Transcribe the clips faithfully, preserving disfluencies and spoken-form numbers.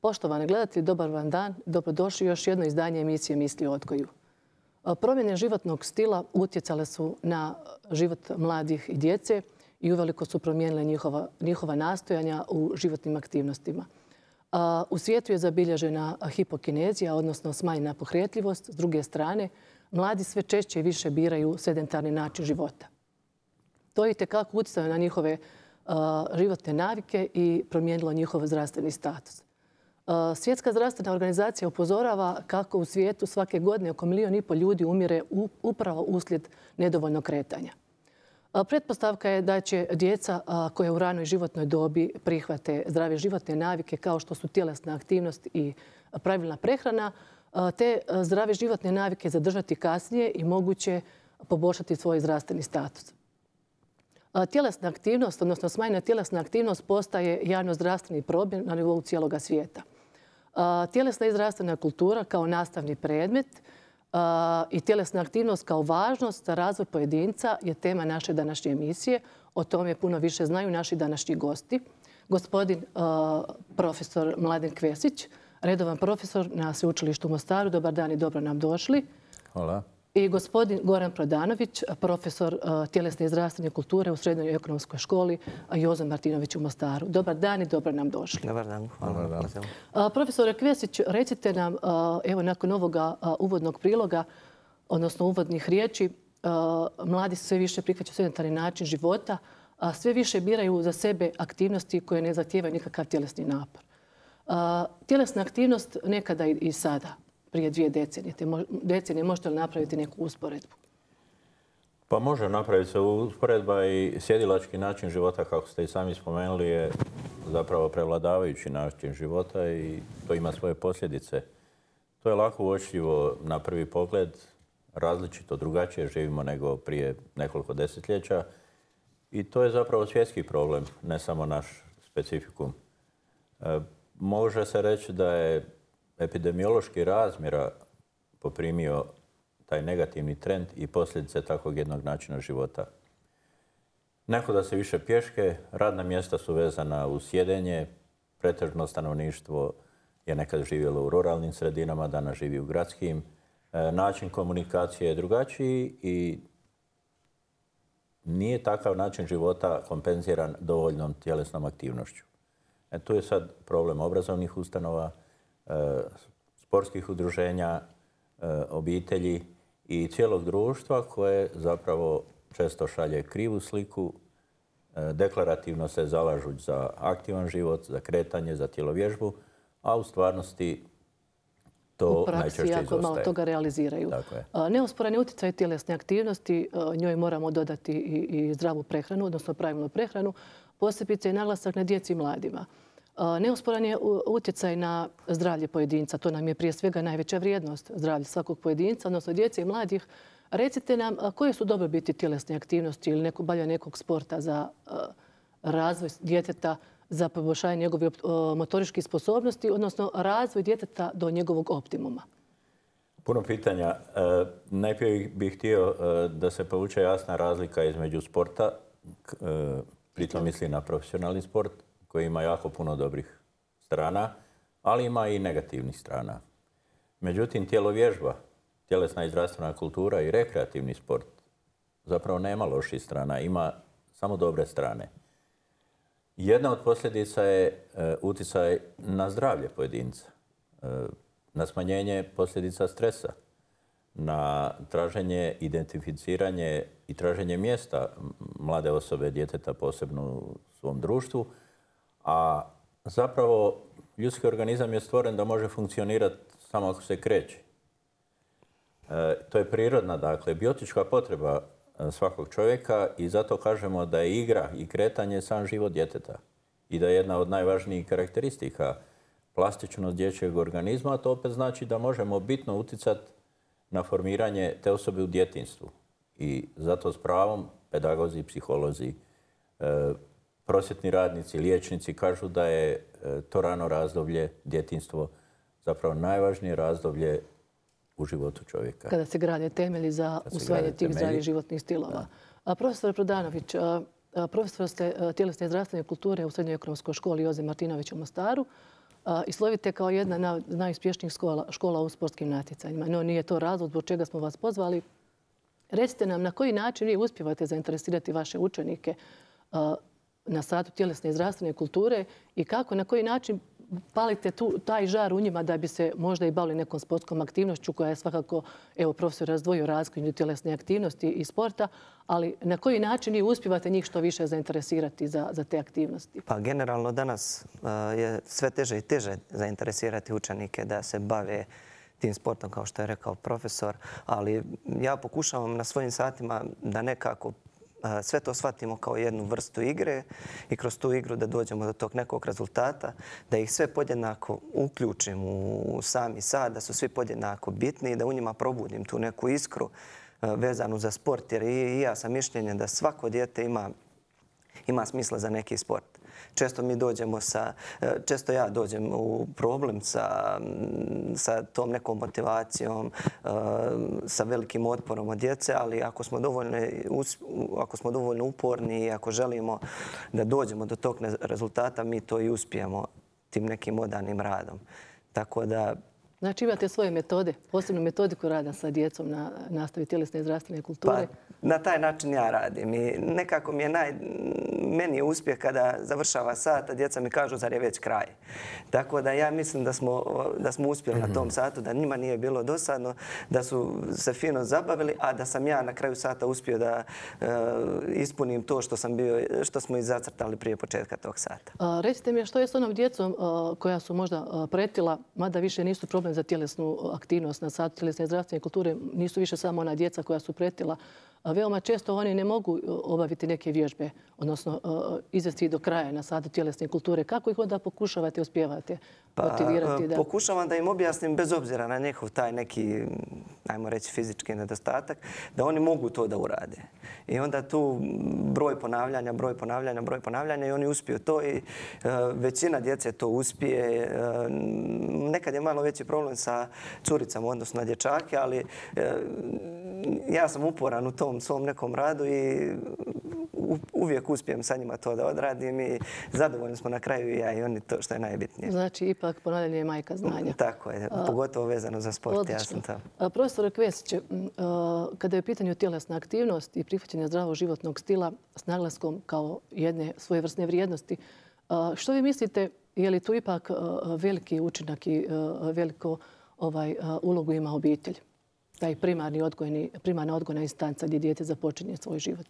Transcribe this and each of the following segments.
Poštovani gledatelji, dobar vam dan. Dobrodošli u još jedno izdanje emisije Misli o odgoju. Promjene životnog stila utjecale su na život mladih i djece i uveliko su promijenile njihova, njihova nastojanja u životnim aktivnostima. U svijetu je zabilježena hipokinezija, odnosno smanjena pokretljivost. S druge strane, mladi sve češće i više biraju sedentarni način života. To je itekako utjecalo na njihove uh, životne navike i promijenilo njihov zdravstveni status. Uh, Svjetska zdravstvena organizacija upozorava kako u svijetu svake godine oko milijun i pol ljudi umire u, upravo uslijed nedovoljnog kretanja. Uh, pretpostavka je da će djeca uh, koja u ranoj životnoj dobi prihvate zdrave životne navike kao što su tjelesna aktivnost i pravilna prehrana, uh, te uh, zdrave životne navike zadržati kasnije i moguće poboljšati svoj zdravstveni status. Tjelesna aktivnost, odnosno smanjena tjelesna aktivnost postaje javno-zdravstveni problem na nivou cijeloga svijeta. Tjelesna i zdravstvena kultura kao nastavni predmet i tjelesna aktivnost kao važnost za razvoj pojedinca je tema naše današnje emisije. O tome puno više znaju naši današnji gosti. Gospodin profesor Mladen Kvesić, redovan profesor na Sveučilištu u Mostaru. Dobar dan i dobro nam došli. Hvala. I gospodin Goran Prodanović, profesor tjelesne i zdravstvene kulture u Srednjoj ekonomskoj školi Jozo Martinović u Mostaru. Dobar dan i dobro nam došli. Dobar dan. Hvala. Dobar dan. Profesore Kvesić, recite nam, evo nakon ovoga uvodnog priloga, odnosno uvodnih riječi, mladi sve više prihvaćaju sedentarni način života, a sve više biraju za sebe aktivnosti koje ne zahtijevaju nikakav tjelesni napor. Tjelesna aktivnost nekada i sada, prije dvije decenije. decenije. Možete li napraviti neku usporedbu? Pa može napraviti se usporedba i sjedilački način života, kako ste i sami spomenuli, je zapravo prevladavajući način života i to ima svoje posljedice. To je lako uočljivo na prvi pogled, različito, drugačije živimo nego prije nekoliko desetljeća i to je zapravo svjetski problem, ne samo naš specifikum. E, može se reći da je epidemiološki razmjera poprimio taj negativni trend i posljedice takvog jednog načina života. Ne hoda se više pješke, radna mjesta su vezana uz sjedenje, pretežno stanovništvo je nekad živjelo u ruralnim sredinama, danas živi u gradskim. E, način komunikacije je drugačiji i nije takav način života kompenziran dovoljnom tjelesnom aktivnošću. E, tu je sad problem obrazovnih ustanova, sportskih udruženja, obitelji i cijelog društva koje zapravo često šalje krivu sliku. Deklarativno se zalažu za aktivan život, za kretanje, za tjelovježbu, a u stvarnosti to najčešće izostaje. U praksi jako malo toga realiziraju. Neosporan je utjecaj tjelesne aktivnosti, njoj moramo dodati i zdravu prehranu, odnosno pravilnu prehranu, posebice i naglasak na djeci i mladima. Neosporan je utjecaj na zdravlje pojedinca. To nam je prije svega najveća vrijednost, zdravlje svakog pojedinca, odnosno djece i mladih. Recite nam koje su dobrobiti tjelesne aktivnosti ili neko, balja nekog sporta za razvoj djeteta, za poboljšanje njegove motoričkih sposobnosti, odnosno razvoj djeteta do njegovog optimuma. Puno pitanja. Najprije bih htio da se povuče jasna razlika između sporta, pritom misli na profesionalni sport, koji ima jako puno dobrih strana, ali ima i negativnih strana. Međutim, tjelovježba, tjelesna i zdravstvena kultura i rekreativni sport zapravo nema loših strana, ima samo dobre strane. Jedna od posljedica je utjecaj na zdravlje pojedinca, na smanjenje posljedica stresa, na traženje, identificiranje i traženje mjesta mlade osobe, djeteta, posebno u svom društvu. A zapravo ljudski organizam je stvoren da može funkcionirati samo ako se kreće. E, to je prirodna, dakle, biotička potreba svakog čovjeka i zato kažemo da je igra i kretanje sam život djeteta. I da je jedna od najvažnijih karakteristika plastičnost dječjeg organizma, a to opet znači da možemo bitno utjecati na formiranje te osobe u djetinjstvu. I zato s pravom pedagozi, psiholozi, e, prosvjetni radnici, liječnici kažu da je to rano razdoblje, djetinjstvo, zapravo najvažnije razdoblje u životu čovjeka. Kada se grade temelji za usvajanje tih zdravih životnih stilova. A profesor Prodanović, profesor ste tjelesne i zdravstvene kulture u Srednjoj ekonomskoj školi Joze Martinović u Mostaru. i slovite kao jedna od najuspješnijih škola u sportskim natjecanjima. No, nije to razlog zbog čega smo vas pozvali. Recite nam na koji način vi uspijevate zainteresirati vaše učenike na satu tjelesne i zdravstvene kulture i kako, na koji način palite tu, taj žar u njima da bi se možda i bavili nekom sportskom aktivnošću koja je svakako, evo, profesor razdvojio razliku između tjelesne aktivnosti i sporta, ali na koji način vi uspijevate njih što više zainteresirati za, za te aktivnosti? Pa generalno danas uh, je sve teže i teže zainteresirati učenike da se bave tim sportom, kao što je rekao profesor, ali ja pokušavam na svojim satima da nekako sve to shvatimo kao jednu vrstu igre i kroz tu igru da dođemo do tog nekog rezultata, da ih sve podjednako uključim u sami sad, da su svi podjednako bitni i da u njima probudim tu neku iskru vezanu za sport. Jer i ja sam mišljenja da svako dijete ima, ima smisla za neki sport. Često mi dođemo sa, često ja dođem u problem sa, sa tom nekom motivacijom, sa velikim otporom od djece, ali ako smo dovoljno, ako smo dovoljno uporni i ako želimo da dođemo do tog rezultata, mi to i uspijemo tim nekim odanim radom. Tako da... Znači imate svoje metode, posebnu metodiku rada sa djecom na nastavi tjelesne i zdravstvene kulture? Pa, na taj način ja radim i nekako mi je naj... Meni je uspjeh kada završava sat, a djeca mi kažu zar je već kraj. Tako da ja mislim da smo, da smo uspjeli na tom satu, da njima nije bilo dosadno, da su se fino zabavili, a da sam ja na kraju sata uspio da uh, ispunim to što, sam bio, što smo i zacrtali prije početka tog sata. A, recite mi što je s onom djecom uh, koja su možda uh, pretila, mada više nisu problem za tjelesnu aktivnost na satu tjelesne i zdravstvene kulture, nisu više samo ona djeca koja su pretila. Veoma često oni ne mogu obaviti neke vježbe, odnosno izvesti do kraja na satu tjelesne kulture. Kako ih onda pokušavate, uspijevate motivirati? Pa, da... Pokušavam da im objasnim bez obzira na njihov taj neki, ajmo reći, fizički nedostatak, da oni mogu to da urade. I onda tu broj ponavljanja, broj ponavljanja, broj ponavljanja i oni uspiju to i uh, većina djece to uspije. Uh, nekad je malo veći problem sa curicama, odnosno na dječake, ali uh, ja sam uporan u tom svom nekom radu i uvijek uspijem sa njima to da odradim i zadovoljni smo na kraju i ja i oni, to što je najbitnije. Znači, ipak ponavljanje je majka znanja. Tako je, pogotovo vezano za sport. Odlično. Ja sam tamo. Profesor Kvesić, kada je u pitanju tjelesna aktivnost i prihvaćanje zdravog životnog stila s naglaskom kao jedne svojevrsne vrijednosti, što vi mislite, je li tu ipak veliki učinak i veliku ovaj, ulogu ima obitelj? Taj primarni odgojni, primarna odgojna instanca gdje dijete započinje svoj život?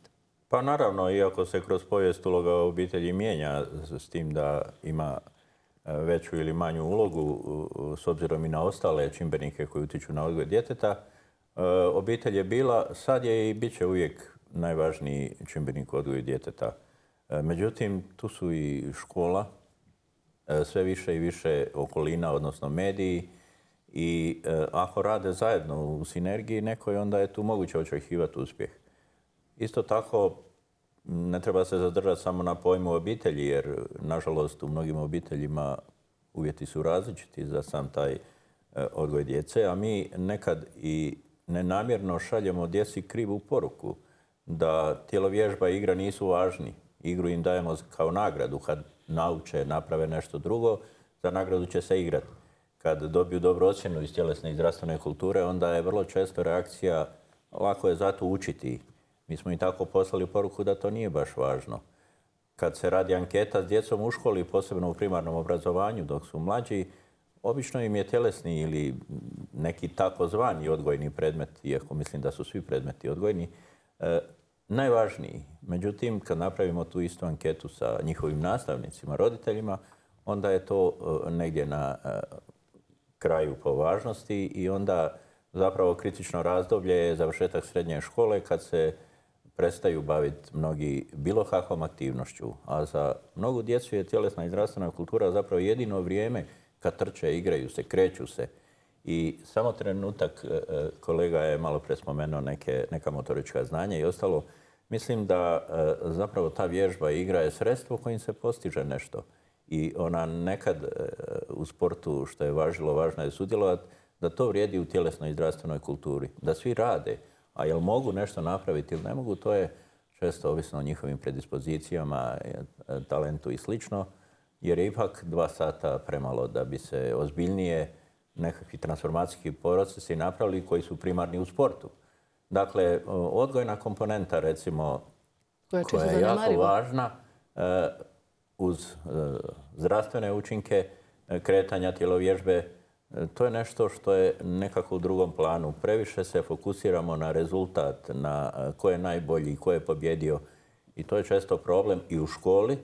Pa naravno, iako se kroz povijest uloga obitelji mijenja s tim da ima veću ili manju ulogu s obzirom i na ostale čimbenike koji utiču na odgoj djeteta, obitelj je bila, sad je i bit će uvijek najvažniji čimbenik u odgoju djeteta. Međutim, tu su i škola, sve više i više okolina, odnosno mediji, i ako rade zajedno u sinergiji nekoj, onda je tu moguće očekivati uspjeh. Isto tako, ne treba se zadržati samo na pojmu obitelji, jer, nažalost, u mnogim obiteljima uvjeti su različiti za sam taj odgoj djece, a mi nekad i nenamjerno šaljemo djeci krivu poruku da tjelovježba i igra nisu važni. Igru im dajemo kao nagradu. Kad nauče, naprave nešto drugo, za nagradu će se igrati. Kad dobiju dobru ocjenu iz tjelesne i zdravstvene kulture, onda je vrlo često reakcija lako je zato učiti. Mi smo i tako poslali poruku da to nije baš važno. Kad se radi anketa s djecom u školi, posebno u primarnom obrazovanju dok su mlađi, obično im je tjelesni ili neki takozvani odgojni predmet, iako mislim da su svi predmeti odgojni, eh, najvažniji. Međutim, kad napravimo tu istu anketu sa njihovim nastavnicima, roditeljima, onda je to eh, negdje na eh, kraju po važnosti i onda zapravo kritično razdoblje je završetak srednje škole kad se prestaju baviti mnogi bilo kakvom aktivnošću. A za mnogu djecu je tjelesna i zdravstvena kultura zapravo jedino vrijeme kad trče, igraju se, kreću se. I samo trenutak, kolega je malo pre spomenuo neke, neka motorička znanja i ostalo. Mislim da zapravo ta vježba i igra je sredstvo kojim se postiže nešto. I ona nekad u sportu, što je važilo, važno je sudjelovati, da to vrijedi u tjelesnoj i zdravstvenoj kulturi. Da svi rade, a jel mogu nešto napraviti ili ne mogu, to je često ovisno o njihovim predispozicijama, talentu i slično. jer je ipak dva sata premalo da bi se ozbiljnije nekakvi transformacijski procesi napravili koji su primarni u sportu. Dakle, odgojna komponenta, recimo, koja je, koja je jako važna, uz zdravstvene učinke kretanja, tjelovježbe, to je nešto što je nekako u drugom planu. Previše se fokusiramo na rezultat, na ko je najbolji, ko je pobjedio. I to je često problem i u školi.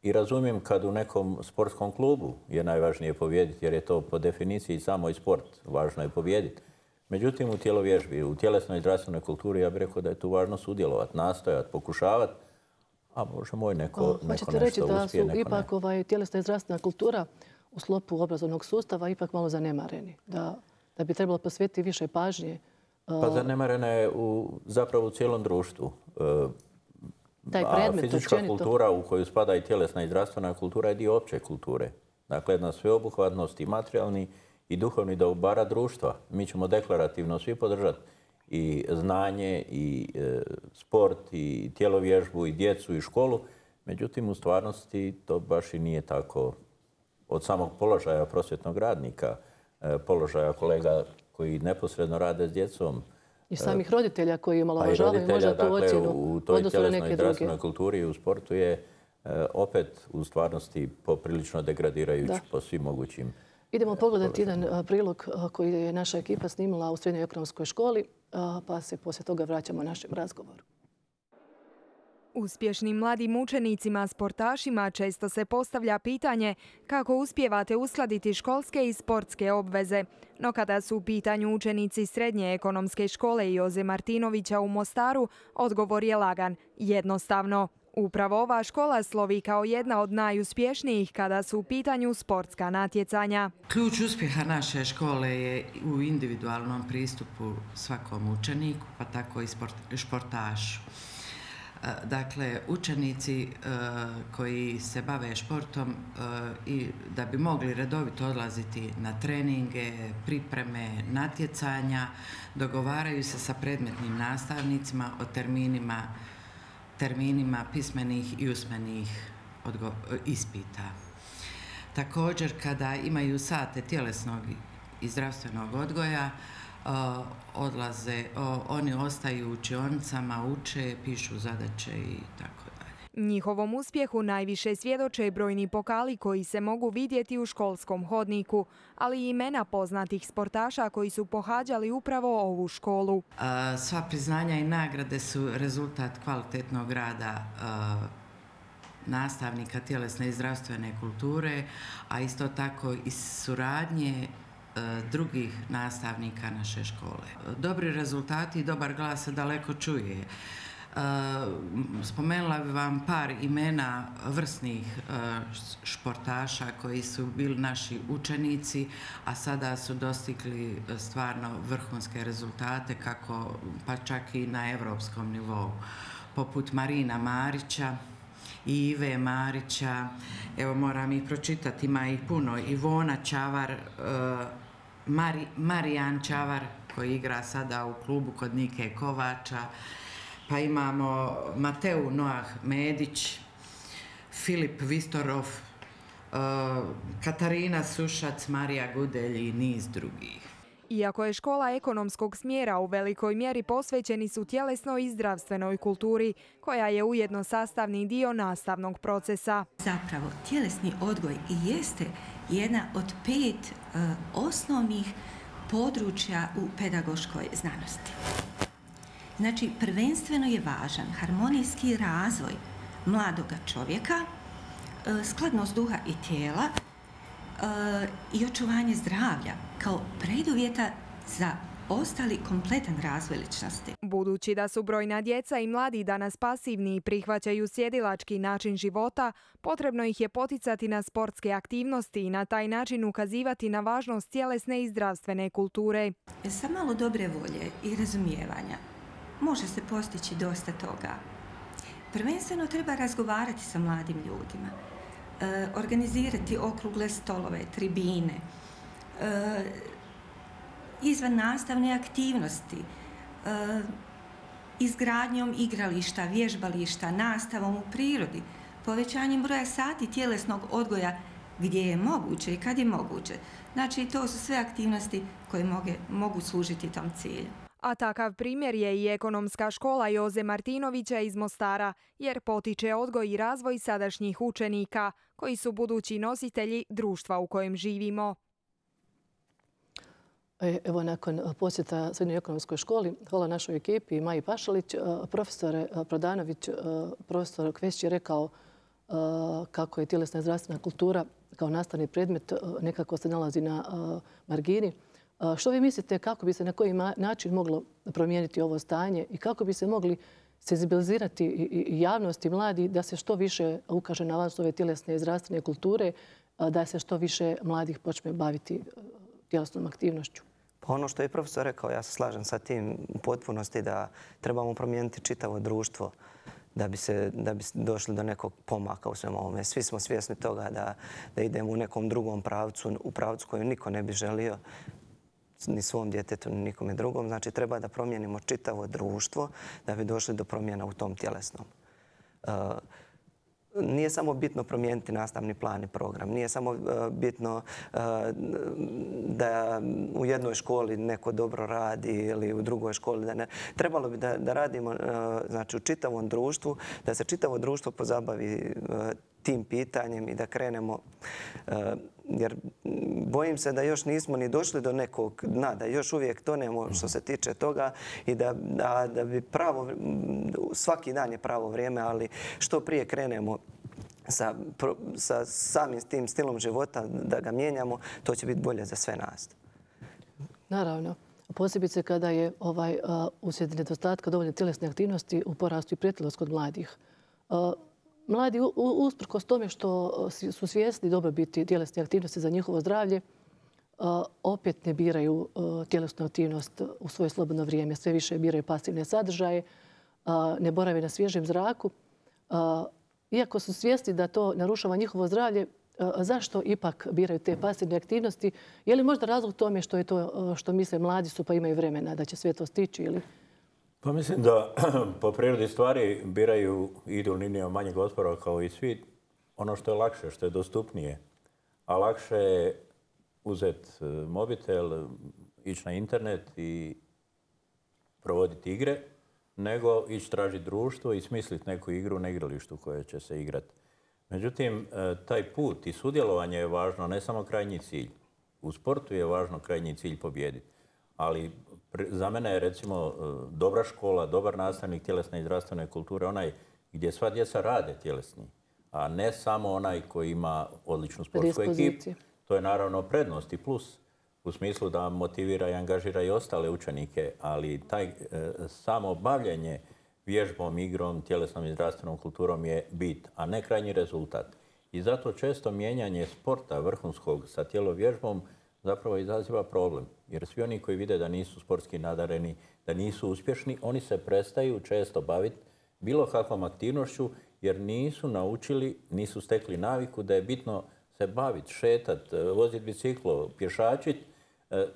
I razumijem kad u nekom sportskom klubu je najvažnije pobijediti, jer je to po definiciji samo i sport. Važno je pobijediti. Međutim, u tjelovježbi, u tjelesnoj i zdravstvenoj kulturi, ja bih rekao da je tu važno sudjelovati, nastojati, pokušavati. A Bože moj, neko, neko nešto uspije, neko ne. Hoćete reći da su ipak ovaj, tjelesna i zdravstvena kultura u sklopu obrazovnog sustava ipak malo zanemareni? Da, da bi trebalo posvetiti više pažnje? Pa zanemarena je u, zapravo u cijelom društvu. Taj predmet, a fizička općenito kultura u koju spada i tjelesna i zdravstvena kultura je dio opće kulture. Dakle, jedna sveobuhvatnost i materijalni i duhovni dobara društva. Mi ćemo deklarativno svi podržati i znanje, i e, sport, i tjelovježbu, i djecu, i školu. Međutim, u stvarnosti to baš i nije tako. Od samog položaja prosvjetnog radnika, e, položaja kolega koji neposredno rade s djecom, i samih roditelja koji omalovažavaju možda tu ocjenu u toj tjelesnoj i zdravstvenoj kulturi i u sportu je e, opet u stvarnosti poprilično degradirajući da. po svim mogućim. Idemo pogledati jedan prilog koji je naša ekipa snimila u Srednjoj ekonomskoj školi, pa se poslije toga vraćamo našem razgovoru. Uspješnim mladim učenicima, sportašima često se postavlja pitanje kako uspijevate uskladiti školske i sportske obveze. No kada su u pitanju učenici Srednje ekonomske škole Joze Martinovića u Mostaru, odgovor je lagan, jednostavno. Upravo ova škola slovi kao jedna od najuspješnijih kada su u pitanju sportska natjecanja. Ključ uspjeha naše škole je u individualnom pristupu svakom učeniku, pa tako i športašu. Dakle, učenici koji se bave športom i da bi mogli redovito odlaziti na treninge, pripreme, natjecanja, dogovaraju se sa predmetnim nastavnicima o terminima, terminima pismenih i usmenih ispita. Također, kada imaju sate tjelesnog i zdravstvenog odgoja, odlaze, oni ostaju u učionicama, uče, pišu zadaće i tako dalje. Njihovom uspjehu najviše svjedoče brojni pokali koji se mogu vidjeti u školskom hodniku, ali i imena poznatih sportaša koji su pohađali upravo ovu školu. Sva priznanja i nagrade su rezultat kvalitetnog rada nastavnika tjelesne i zdravstvene kulture, a isto tako i suradnje drugih nastavnika naše škole. Dobri rezultati i dobar glas se daleko čuje. Spomenula bih vam par imena vrsnih športaša koji su bili naši učenici, a sada su dostigli stvarno vrhunske rezultate, kako pa čak i na evropskom nivou, poput Marina Marića i Ive Marića. Evo, moram ih pročitati, ima ih puno. Ivona Čavar, Mari, Marijan Čavar koji igra sada u klubu kod Nike Kovača, pa imamo Mateu Noah Medić, Filip Vistorov, Katarina Sušac, Marija Gudelj i niz drugih. Iako je škola ekonomskog smjera u velikoj mjeri posvećeni su tjelesnoj i zdravstvenoj kulturi, koja je ujedno sastavni dio nastavnog procesa. Zapravo, tjelesni odgoj i jeste jedna od pet uh, osnovnih područja u pedagoškoj znanosti. Znači, prvenstveno je važan harmonijski razvoj mladoga čovjeka, uh, skladnost duha i tijela, i očuvanje zdravlja kao preduvjeta za ostali kompletan razvoj ličnosti. Budući da su brojna djeca i mladi danas pasivni i prihvaćaju sjedilački način života, potrebno ih je poticati na sportske aktivnosti i na taj način ukazivati na važnost tjelesne i zdravstvene kulture. Sa malo dobre volje i razumijevanja može se postići dosta toga. Prvenstveno treba razgovarati sa mladim ljudima, organizirati okrugle stolove, tribine, izvan nastavne aktivnosti, izgradnjom igrališta, vježbališta, nastavom u prirodi, povećanjem broja sati tjelesnog odgoja gdje je moguće i kad je moguće. Znači, to su sve aktivnosti koje mogu, mogu služiti tom cilju. A takav primjer je i ekonomska škola Joze Martinovića iz Mostara, jer potiče odgoj i razvoj sadašnjih učenika, koji su budući nositelji društva u kojem živimo. Evo, nakon posjeta Srednjoj ekonomskoj školi, hvala našoj ekipi, Maji Pašalić, profesor Prodanović, profesor Kvesić je rekao kako je tjelesna i zdravstvena kultura kao nastavni predmet nekako se nalazi na margini. Što vi mislite kako bi se na koji način moglo promijeniti ovo stanje i kako bi se mogli senzibilizirati i javnost i mladi da se što više ukaže na važnost ove tjelesne i zdravstvene kulture, da se što više mladih počne baviti tjelesnom aktivnošću? Pa ono što je profesor rekao, ja se slažem sa tim u potpunosti da trebamo promijeniti čitavo društvo da bi, se, da bi došli do nekog pomaka u svemu ovome. Svi smo svjesni toga da, da idemo u nekom drugom pravcu, u pravcu koju niko ne bi želio, ni svom djetetu, ni nikome drugom. Znači, treba da promijenimo čitavo društvo da bi došli do promjena u tom tjelesnom. Uh, Nije samo bitno promijeniti nastavni plan i program. Nije samo bitno da u jednoj školi neko dobro radi ili u drugoj školi da ne. Trebalo bi da, da radimo znači, u čitavom društvu, da se čitavo društvo pozabavi tim pitanjem i da krenemo. Jer bojim se da još nismo ni došli do nekog dna, da još uvijek tonemo što se tiče toga i da, da, da bi pravo, svaki dan je pravo vrijeme, ali što prije krenemo sa, sa samim tim stilom života da ga mijenjamo, to će biti bolje za sve nas. Naravno. Posebice kada je ovaj, uh, uslijed nedostatka dovoljne tjelesne aktivnosti u porastu i pretilost kod mladih. Uh, Mladi, usprkos tome što su svjesni dobrobiti tjelesne aktivnosti za njihovo zdravlje, opet ne biraju tjelesnu aktivnost u svoje slobodno vrijeme. Sve više biraju pasivne sadržaje, ne borave na svježem zraku. Iako su svjesni da to narušava njihovo zdravlje, zašto ipak biraju te pasivne aktivnosti? Je li možda razlog tome što je to što misle mladi su pa imaju vremena da će sve to stići ili... Pa mislim da po prirodi stvari biraju i idu linijom manjeg otpora kao i svi. Ono što je lakše, što je dostupnije. A lakše je uzeti mobitel, ići na internet i provoditi igre, nego ići tražiti društvo i smisliti neku igru na igralištu koje će se igrati. Međutim, taj put i sudjelovanje je važno, ne samo krajnji cilj. U sportu je važno krajnji cilj pobijediti. Ali za mene je recimo dobra škola, dobar nastavnik tjelesne i zdravstvene kulture onaj gdje sva djeca rade tjelesni, a ne samo onaj koji ima odličnu sportsku ekipu. To je naravno prednost i plus u smislu da motivira i angažira i ostale učenike, ali taj e, samo bavljenje vježbom, igrom, tjelesnom i zdravstvenom kulturom je bit, a ne krajnji rezultat. I zato često mijenjanje sporta vrhunskog sa tjelovježbom zapravo izaziva problem. Jer svi oni koji vide da nisu sportski nadareni, da nisu uspješni, oni se prestaju često baviti bilo kakvom aktivnošću jer nisu naučili, nisu stekli naviku da je bitno se baviti, šetati, voziti biciklo, pješačiti. E,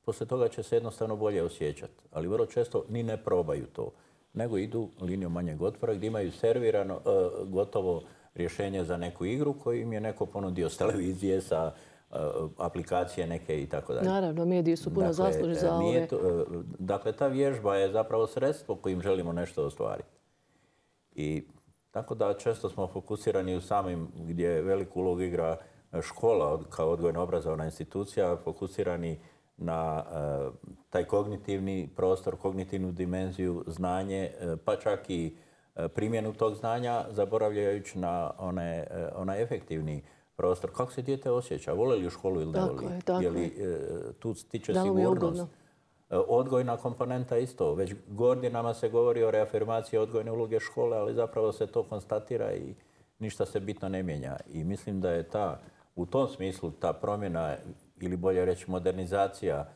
poslije toga će se jednostavno bolje osjećati. Ali vrlo često ni ne probaju to, nego idu linijom manjeg otpora gdje imaju servirano e, gotovo rješenje za neku igru koju im je neko ponudio s televizije, sa aplikacije neke i tako dalje. Naravno, mediji su puno dakle, zaslužni za ove... To, dakle, ta vježba je zapravo sredstvo kojim želimo nešto ostvariti. I tako da često smo fokusirani u samim gdje veliku ulogu igra škola kao odgojno-obrazovna institucija, fokusirani na uh, taj kognitivni prostor, kognitivnu dimenziju, znanje, uh, pa čak i uh, primjenu tog znanja, zaboravljajući na one, uh, onaj efektivni prostor. Kako se dijete osjeća? Vole li u školu ili ne voli? Tako je, tako je. Li tu stiče sigurnost? Odgojna komponenta isto. Već godinama se govori o reafirmaciji odgojne uloge škole, ali zapravo se to konstatira i ništa se bitno ne mijenja. I mislim da je ta, u tom smislu ta promjena ili bolje reći modernizacija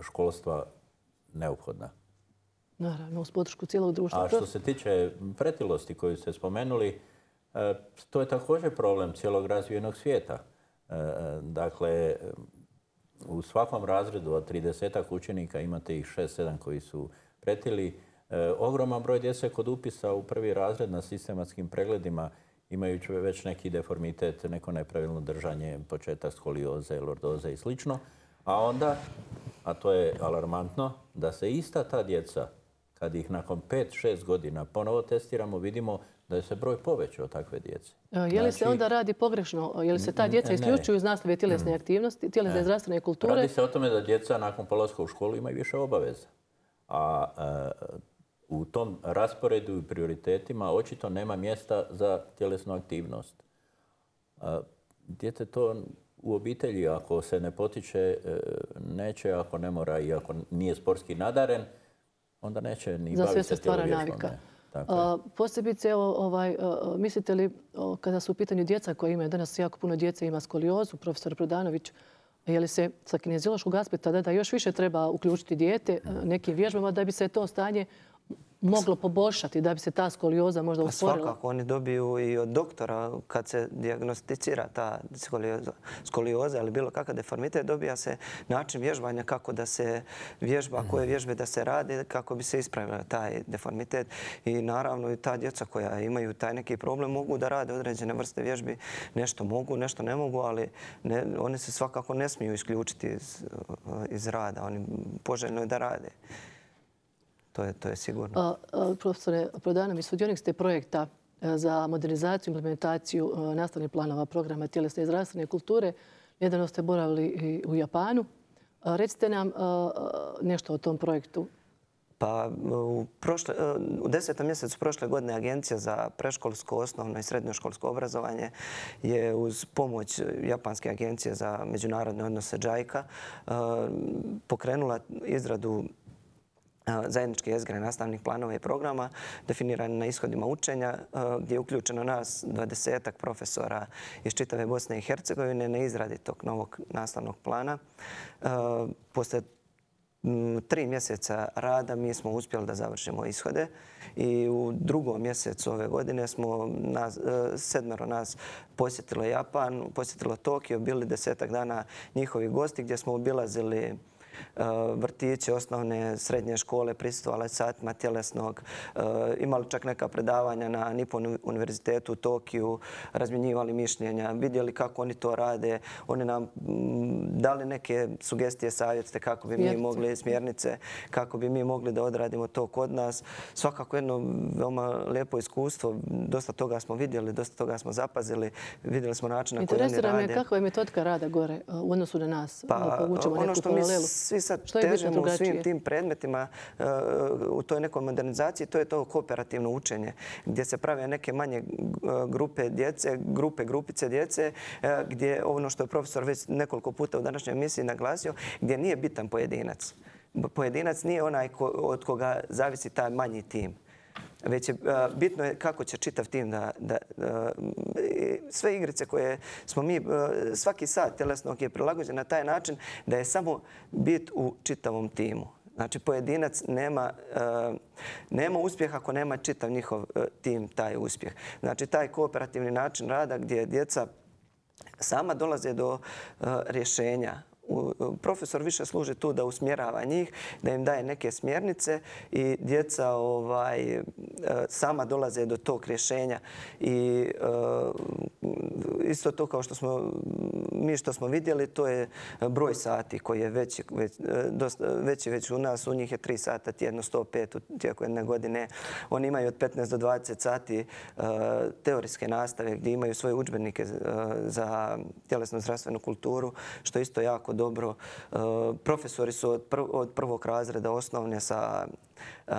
školstva neophodna. Naravno, uz podršku cijelog društva. A što se tiče pretilosti koju ste spomenuli, to je također problem cijelog razvijenog svijeta. Dakle, u svakom razredu od tridesetak učenika imate ih šest sedam koji su pretili. Ogroman broj djece kod upisa u prvi razred na sistematskim pregledima imajući već neki deformitet, neko nepravilno držanje, početak skolioze, lordoze i slično. A onda, a to je alarmantno, da se ista ta djeca, kad ih nakon pet šest godina ponovo testiramo, vidimo da je se broj povećao takve djece. Je li se onda radi pogrešno? Je li se ta djeca isključuju iz nastave tjelesne aktivnosti, tjelesne zdravstvene kulture? Radi se o tome da djeca nakon polaska u školu imaju više obaveza. A u tom rasporedu i prioritetima očito nema mjesta za tjelesnu aktivnost. Dijete to u obitelji, ako se ne potiče, neće, ako ne mora i ako nije sportski nadaren, onda neće ni za baviti sve se stvara navika. Posebice, mislite li, kada su u pitanju djeca koja imaju, danas jako puno djece ima skoliozu, profesor Prodanović, je li se sa kineziološkog aspekta da još više treba uključiti dijete nekim vježbama da bi se to stanje moglo poboljšati, da bi se ta skolioza možda usporila? Svakako, oni dobiju i od doktora kad se dijagnosticira ta skolioza ili bilo kakav deformitet, dobija se način vježbanja kako da se vježba, koje vježbe da se rade, kako bi se ispravila taj deformitet. I naravno i ta djeca koja imaju taj neki problem mogu da rade određene vrste vježbi. Nešto mogu, nešto ne mogu, ali oni se svakako ne smiju isključiti iz rada. Oni poželjno je da rade. To je, to je sigurno. Profesore Prodanović, sudionik ste projekta za modernizaciju i implementaciju nastavnih planova programa tjelesne i zdravstvene kulture. Nedavno ste boravili i u Japanu. Recite nam nešto o tom projektu. Pa u, prošle, u desetom mjesecu prošle godine Agencija za preškolsko, osnovno i srednjoškolsko obrazovanje je uz pomoć Japanske agencije za međunarodne odnose džajka pokrenula izradu zajedničke jezgre nastavnih planova i programa definirani na ishodima učenja gdje je uključeno nas dvadesetak profesora iz čitave Bosne i Hercegovine na izradi tog novog nastavnog plana. Posle tri mjeseca rada mi smo uspjeli da završimo ishode i u drugom mjesecu ove godine smo nas, sedmero nas posjetilo Japan, posjetilo Tokio, bili desetak dana njihovi gosti gdje smo obilazili vrtiće, osnovne, srednje škole, prisustvovali satima tjelesnog, imali čak neka predavanja na Nippon univerzitetu u Tokiju, razmjenjivali mišljenja, vidjeli kako oni to rade. Oni nam dali neke sugestije, savjete kako bi mi mogli, smjernice, kako bi mi mogli da odradimo to kod nas. Svakako jedno veoma lijepo iskustvo. Dosta toga smo vidjeli, dosta toga smo zapazili. Vidjeli smo način na koji oni rade. Interesira me kakva je metodika rada gore u odnosu na nas. Da povučemo neku paralelu. Svi sad težimo u svim tim predmetima u toj nekoj modernizaciji, to je to kooperativno učenje gdje se prave neke manje grupe djece, grupe, grupice djece, gdje ono što je profesor već nekoliko puta u današnjoj emisiji naglasio, gdje nije bitan pojedinac. Pojedinac nije onaj od koga zavisi taj manji tim. Već je bitno je kako će čitav tim da, da sve igrice koje smo mi, svaki sat tjelesnog je prilagođen na taj način da je samo bit u čitavom timu. Znači pojedinac nema, nema uspjeha ako nema čitav njihov tim taj uspjeh. Znači taj kooperativni način rada gdje djeca sama dolaze do rješenja. Profesor više služi tu da usmjerava njih, da im daje neke smjernice i djeca ovaj, sama dolaze do tog rješenja. I isto to kao što smo mi što smo vidjeli, to je broj sati koji je veći već, dosta, veći već u nas. U njih je tri sata tjedno, sto pet u tijeku jedne godine. Oni imaju od petnaest do dvadeset sati teorijske nastave gdje imaju svoje udžbenike za tjelesnu zdravstvenu kulturu, što isto jako dobro. Profesori su od, prv, od prvog razreda osnovne sa uh,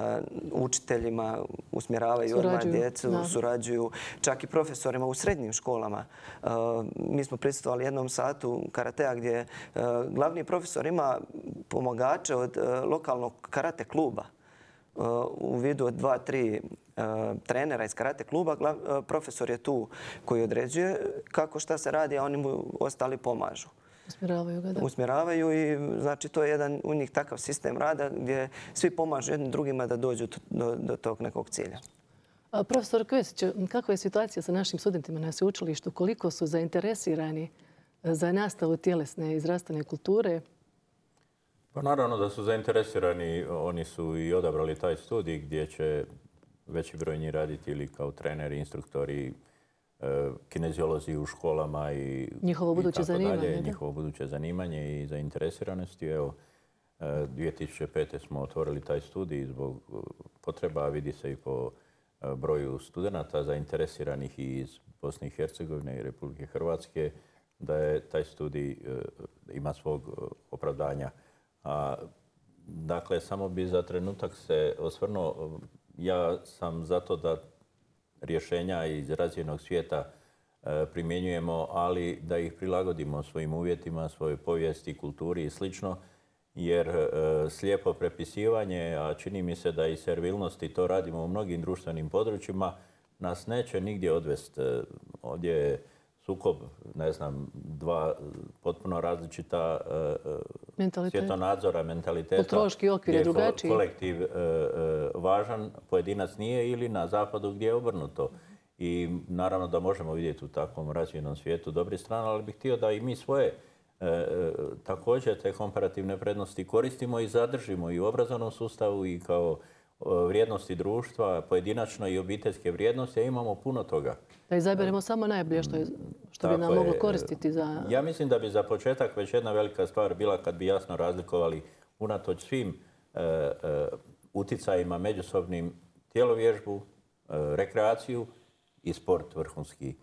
učiteljima, usmjeravaju odmah djecu, da. surađuju. Čak i profesorima u srednjim školama. Uh, mi smo prisustvovali jednom satu karatea gdje uh, glavni profesor ima pomagače od uh, lokalnog karate kluba. Uh, u vidu od dva, tri uh, trenera iz karate kluba. Glav, uh, profesor je tu koji određuje kako šta se radi, a oni mu ostali pomažu. Usmjeravaju ga, da. Usmjeravaju i znači to je jedan u njih takav sistem rada gdje svi pomažu jednim drugima da dođu do, do tog nekog cilja. A, profesor Kvesić, kakva je situacija sa našim studentima na sveučilištu? Koliko su zainteresirani za nastavu tjelesne i zdravstvene kulture? Pa naravno da su zainteresirani. Oni su i odabrali taj studij gdje će veći broj njih raditi ili kao treneri, instruktori, kineziolozi u školama i njihovo buduće zanimanje. Njihovo buduće zanimanje i zainteresiranosti. Evo, dvije tisuće pete. smo otvorili taj studij zbog potreba, vidi se i po broju studenata zainteresiranih i iz Bosne i Hercegovine i Republike Hrvatske, da je taj studij ima svog opravdanja. A, dakle, samo bi za trenutak se osvrnuo. Ja sam zato da rješenja iz razvijenog svijeta primjenjujemo, ali da ih prilagodimo svojim uvjetima, svojoj povijesti, kulturi i slično, jer slijepo prepisivanje, a čini mi se da i servilnosti to radimo u mnogim društvenim područjima, nas neće nigdje odvesti. Ovdje je sukob, ne znam, dva potpuno različita svjetonadzora, mentaliteta. Kulturološki okvir je drugačiji. Kolektiv važan, pojedinac nije, ili na zapadu gdje je obrnuto. I naravno da možemo vidjeti u takvom razvijenom svijetu dobri strane, ali bih htio da i mi svoje također te komparativne prednosti koristimo i zadržimo i u obrazovnom sustavu i kao vrijednosti društva, pojedinačno i obiteljske vrijednosti, a imamo puno toga. Da izaberemo samo najbolje što, je, što bi nam moglo koristiti za... Ja mislim da bi za početak već jedna velika stvar bila kad bi jasno razlikovali unatoč svim e, e, uticajima međusobnim tjelovježbu, e, rekreaciju i sport vrhunski.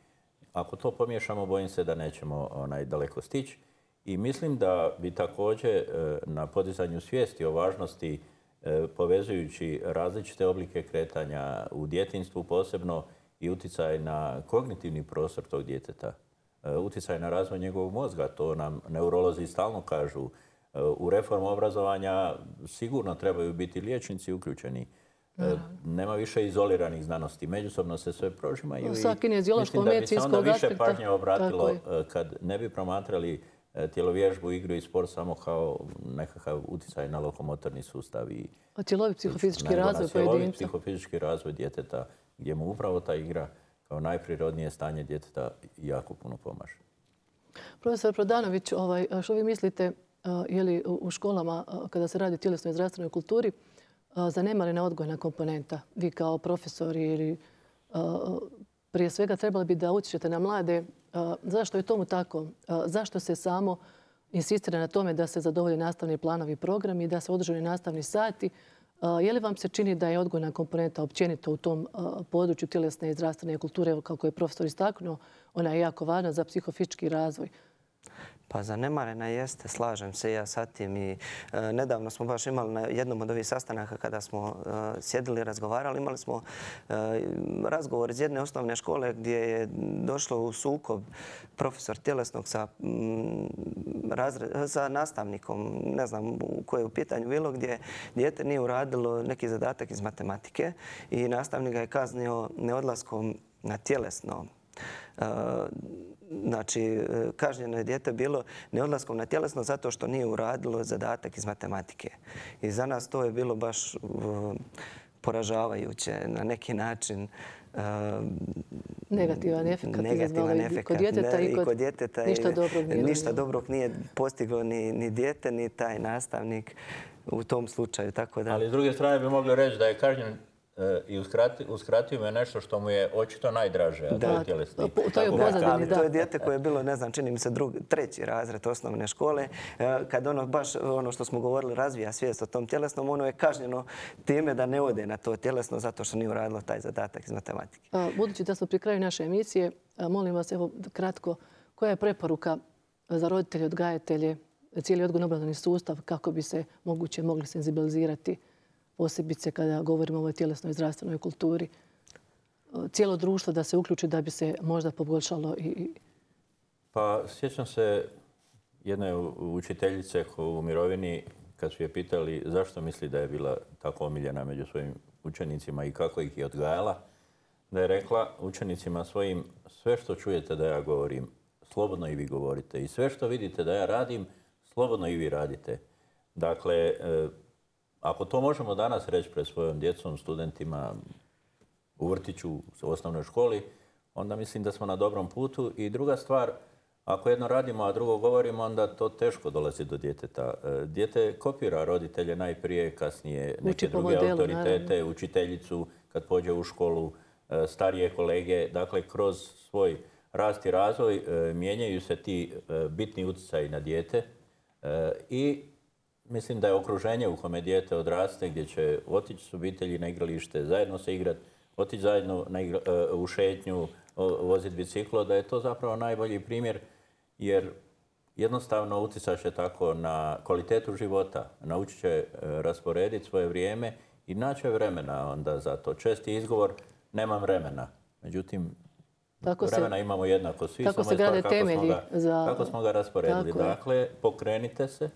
Ako to pomiješamo, bojim se da nećemo onaj, daleko stići. I mislim da bi također e, na podizanju svijesti o važnosti povezujući različite oblike kretanja u djetinjstvu, posebno i utjecaj na kognitivni prostor tog djeteta, utjecaj na razvoj njegovog mozga. To nam neurolozi stalno kažu. U reformu obrazovanja sigurno trebaju biti liječnici uključeni. Nema više izoliranih znanosti. Međusobno se sve prožimaju. Sa kinezijološkog, medicinskog aspekta. Mislim da bi se onda više pažnje obratilo kad ne bi promatrali tjelovježbu, igru i sport samo kao nekakav utjecaj na lokomotorni sustav. I cjelovit psihofizički razvoj pojedinca. Cjelovit psihofizički razvoj djeteta, gdje mu upravo ta igra kao najprirodnije stanje djeteta jako puno pomaže. Profesor Prodanović, ovaj, što vi mislite, je li u školama, kada se radi o tjelesnoj i zdravstvenoj kulturi, zanemarena odgojna komponenta? Vi kao profesori ili prije svega trebali bi da utječete na mlade. Zašto je tomu tako? Zašto se samo insistira na tome da se zadovolje nastavni planovi i programi i da se održaju nastavni sati? Je li vam se čini da je odgojna komponenta općenito u tom području tjelesne i zdravstvene kulture, kako je profesor istaknuo, ona je jako važna za psihofizički razvoj? Pa zanemarena jeste, slažem se ja sa tim. I e, nedavno smo baš imali na jednom od ovih sastanaka kada smo e, sjedili i razgovarali, imali smo e, razgovor iz jedne osnovne škole gdje je došlo u sukob profesor tjelesnog sa, m, razre, sa nastavnikom, ne znam u koje je u pitanju bilo, gdje dijete nije uradilo neki zadatak iz matematike i nastavnik ga je kaznio neodlaskom na tjelesno. E, Znači, kažnjeno je dijete bilo neodlaskom na tjelesno zato što nije uradilo zadatak iz matematike. I za nas to je bilo baš poražavajuće na neki način. Negativan efekt. Negativan efekt. Kod djeteta i kod djeteta ništa dobrog nije. Ništa dobrog nije postiglo ni, ni dijete, ni taj nastavnik u tom slučaju. Tako da... Ali s druge strane bi mogli reći da je kažnjen i uskratio me nešto što mu je očito najdraže, a to je tjelesni. To je u pozadini, da. To je dijete koje je bilo, ne znam, čini mi se drugi, treći razred osnovne škole. Kad ono baš, ono što smo govorili, razvija svijest o tom tjelesnom, ono je kažnjeno time da ne ode na to tjelesno zato što nije uradilo taj zadatak iz matematike. Budući da smo pri kraju naše emisije, molim vas, evo kratko, koja je preporuka za roditelje, odgajatelje, cijeli odgojno-obrazovni sustav kako bi se moguće mogli senzibilizirati, posebice kada govorimo o ovoj tjelesnoj i zdravstvenoj kulturi, cijelo društvo da se uključi da bi se možda poboljšalo? I... Pa sjećam se jedne učiteljice u mirovini kad su je pitali zašto misli da je bila tako omiljena među svojim učenicima i kako ih je odgajala, da je rekla učenicima svojim: sve što čujete da ja govorim, slobodno i vi govorite, i sve što vidite da ja radim, slobodno i vi radite. Dakle, ako to možemo danas reći pred svojom djecom, studentima u vrtiću, u osnovnoj školi, onda mislim da smo na dobrom putu. I druga stvar, Ako jedno radimo, a drugo govorimo, onda to teško dolazi do djeteta. Dijete kopira roditelje najprije, kasnije neke druge autoritete, učiteljicu kad pođe u školu, starije kolege. Dakle, kroz svoj rast i razvoj mijenjaju se ti bitni utjecaji na dijete i mislim da je okruženje u kome dijete odraste, gdje će otići s obitelji na igralište, zajedno se igrati, otići zajedno u šetnju, voziti biciklo, da je to zapravo najbolji primjer, jer jednostavno utjecat će tako na kvalitetu života, naučit će rasporediti svoje vrijeme i naći vremena onda za to. Česti izgovor, nemam vremena. Međutim, tako vremena se, imamo jednako svi, tako se grade temelji za... Kako smo ga rasporedili. Dakle, pokrenite se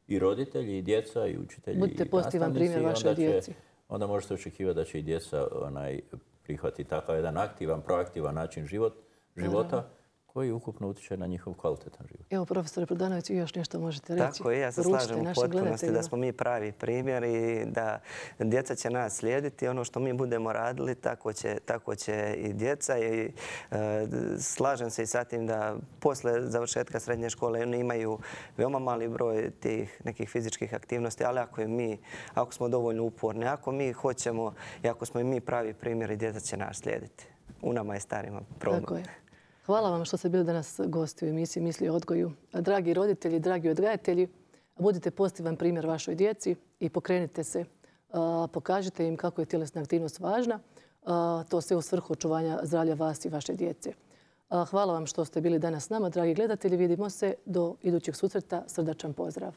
i roditelji, i djeca, i učitelji, budite pozitivan primjer vašoj djeci. Onda možete očekivati da će i djeca onaj, prihvatiti takav jedan aktivan, proaktivan način život, života, koji ukupno utječe na njihov kvalitetan život. Evo, profesore Prodanović, vi još nešto možete reći. Tako je, ja se slažem u potpunosti da smo mi pravi primjer i da djeca će nas slijediti. Ono što mi budemo radili, tako će, tako će i djeca. I, e, slažem se i sa tim da posle završetka srednje škole oni imaju veoma mali broj tih nekih fizičkih aktivnosti, ali ako, je mi, ako smo dovoljno uporni, ako mi hoćemo i ako smo i mi pravi primjeri, djeca će nas slijediti. U nama je starima problem. Tako je. Hvala vam što ste bili danas gosti u emisiji Misli o odgoju. Dragi roditelji, dragi odgajatelji, budite pozitivan primjer vašoj djeci i pokrenite se. Pokažite im kako je tjelesna aktivnost važna. To sve u svrhu očuvanja zdravlja vas i vaše djece. Hvala vam što ste bili danas s nama, dragi gledatelji. Vidimo se do idućeg susreta. Srdačan pozdrav.